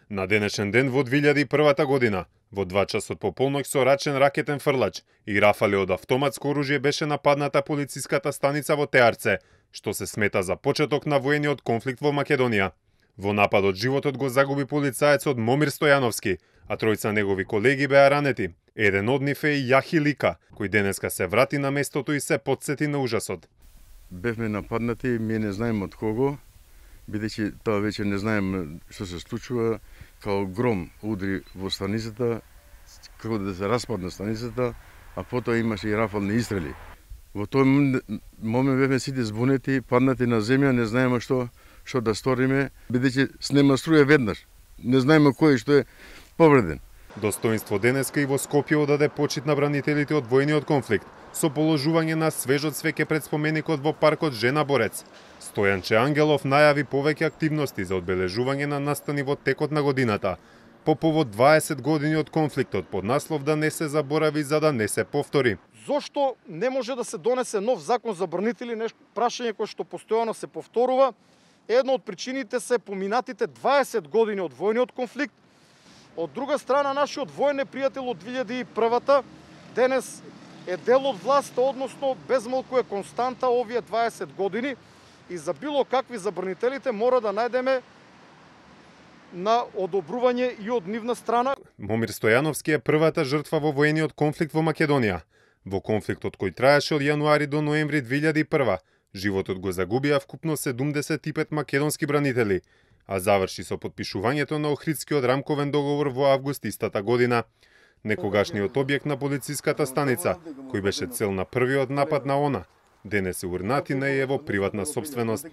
На денешен ден во 2001 година, во 2 часот по полноќ со рачен ракетен фрлач и рафали од автоматско оружје беше нападната полициската станица во Теарце, што се смета за почеток на воениот конфликт во Македонија. Во нападот животот го загуби полицаецот Момир Стојановски, а тројца негови колеги беа ранети. Еден од нив е и Јахи Лика, кој денеска се врати на местото и се потсети на ужасот. Бевме нападнати, ми не знаем од кого, бидејќи тоа веќе не знаем што се случува, као гром удри во станицата, како да се распадна станицата, а потоа имаше и рафални истрели. Во тој момент бевме сите збунети, паднати на земја, не знаеме што да сториме, бидејќи снема струја веднаш. Не знаеме кој што е повреден. Достоинство денеска и во Скопје одаде почит на бранителите од воениот конфликт, со положување на свежот свеќе пред споменикот во паркот Жена Борец. Стојанче Ангелов најави повеќе активности за одбележување на настани во текот на годината, по повод 20 години од конфликтот под наслов да не се заборави за да не се повтори. Зошто не може да се донесе нов закон за бранители, нешто прашање кое што постојано се повторува? Една од причините се поминатите 20 години од војниот конфликт. Од друга страна, нашиот воен непријател од 2001-та денес е дел од власта, односно безмалку е константа овие 20 години и за било какви забранителите мора да најдеме на одобрување и од нивна страна. Момир Стојановски е првата жртва во воениот конфликт во Македонија. Во конфликтот кој траеше од јануари до ноември 2001, животот го загубија вкупно 75 македонски бранители, а заврши со подпишувањето на Охридскиот рамковен договор во август истата година. Некогашниот објект на полициската станица, кој беше цел на првиот напад на ОНА, денес е урнатина и е во приватна сопственост.